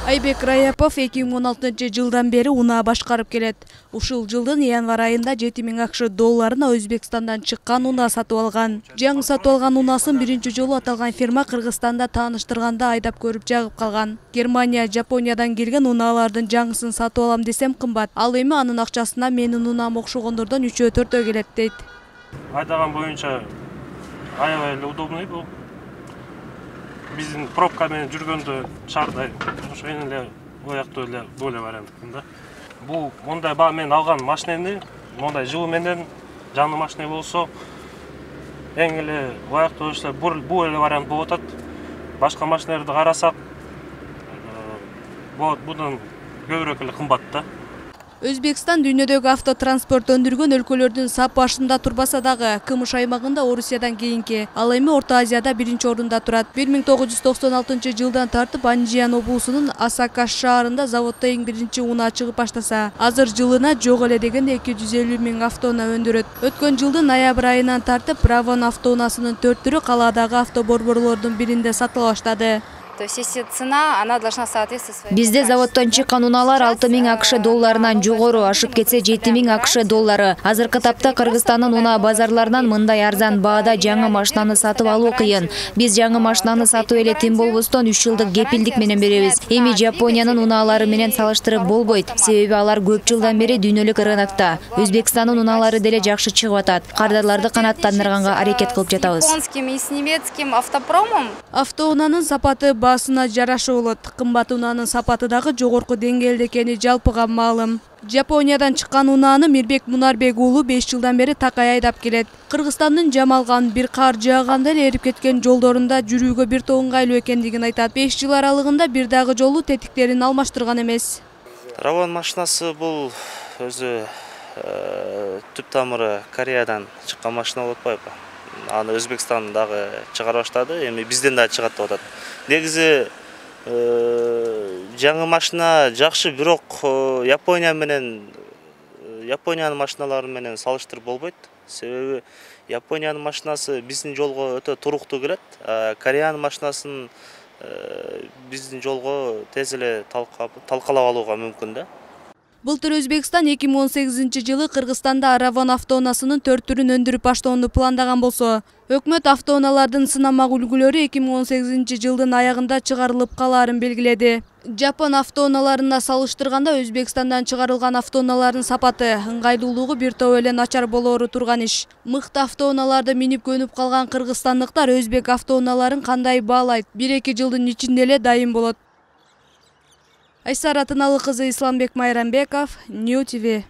Айбек Раяпов 2016-жылдан бери унаа башкарып келет. Ушул жылдын январь айында 7000 акш долларына Өзбекстандан чыккан унаа сатып алган. Жаңы сатып алган унаасын биринчи жолу аталган фирма Кыргызстанда тааныштырганда айдап көрүп жагып калган. Германия, Жапониядан келген унаалардын жаңысын сатып алам десем кымбат. Ал эми анын акчасына менин унаам окшогондордон 3-4 келет дейт. Айдаган боюнча аябай эле удобный бул. Биздин пробка менен жүргөндө шаардай ошо эле ояктуу эле боло варианттын да. Бул мондай баа менен алган машинени, мондай жылуу менен жаңы машина болсо эң эле ояктуу ошо бул эле вариант болуп атат. Башка машиналарды карасак, будан көбүрөөк эле кымбат да. Өзбекстан дүйнөдөгү автотранспорт өндүргөн өлкөлөрдүн сап башында турбаса дагы, Кымыш аймагында Орусиядан кийинки, ал эми Орто Азияда биринчи орунда турат. 1996-жылдан тартып Анжиян облусунун Асакаш шаарында заводдо эң биринчи унаа чыгып баштаса, азыр жылына жок эле дегенде 250 000 автоунаа өндүрөт. Өткөн жылдын ноябрь айынан тартып Равон автоунаасынын 4 түрү калаадагы автоборборлордун биринде сатыла баштады. Бизде заводдон чыккан унаалар 6000 акш долларынан жогору, ашып кетсе 7000 акш доллары. Азыркы тапта Кыргызстандын унаа базарларынан мындай арзан баада жаңы машинаны сатып алуу кыйын. Биз жаңы машинаны сатып эле тим болбостон 3 жылдык кепилдик менен беребиз. Эми Жапониянын унаалары менен салыштырып болбойт, себеби алар көп жылдан бери дүйнөлүк рынокто. Өзбекстандын унаалары деле жакшы чыгып атат. Кардарларды канааттандырганга аракет кылып жатабыз. Автоунаанын сапаты басына жараша болот. Кымбат унаанын сапаты дагы жогорку деңгээлде экени жалпыга маалым. Жапониядан чыккан унааны Мирбек Мунарбек уулу 5 жылдан бери такай айдап келет. Кыргызстандын Жамалган бир кар жааганда эле эрип кеткен жолдорунда жүрүүгө бир то ыңгайлуу экендигин айтат. 5 жыл аралыгында бир дагы жолу тетиктерин алмаштырган эмес. Равон машинасы бул өзү түп тамыры Кореядан чыккан машина болуп атпайбы? Аны Өзбекстан дагы чыгара баштады, эми бизден да чыгат деп атат. Негизи жаңы машина жакшы, бирок Япониянын машиналары менен салыштырып болбойт. Себеби Япониянын машинасы биздин жолго өтө туруктуу келет. Кореянын машинасын биздин жолго тез эле талкалап алууга мүмкүн да. Былтыр Өзбекстан 2018-жылы Кыргызстанда Равон автоунаасынын 4 түрүн өндүрүп баштоону пландаган болсо, өкмөт автоунаалардын сынамак үлгүлөрү 2018-жылдын аягында чыгарылып калаарын белгиледи. Жапон автоунааларына салыштырганда Өзбекстандан чыгарылган автоунаалардын сапаты, ыңгайлуулугу бир топ эле начар болоору турган иш. Мыкты автоунааларды минип көнүп калган кыргызстандыктар өзбек автоунааларын кандай баалайт? 1-2 жылдын ичинде эле дайын болот. Айсара Тыналыкызы, Исламбек Майрамбеков, Нью ТВ.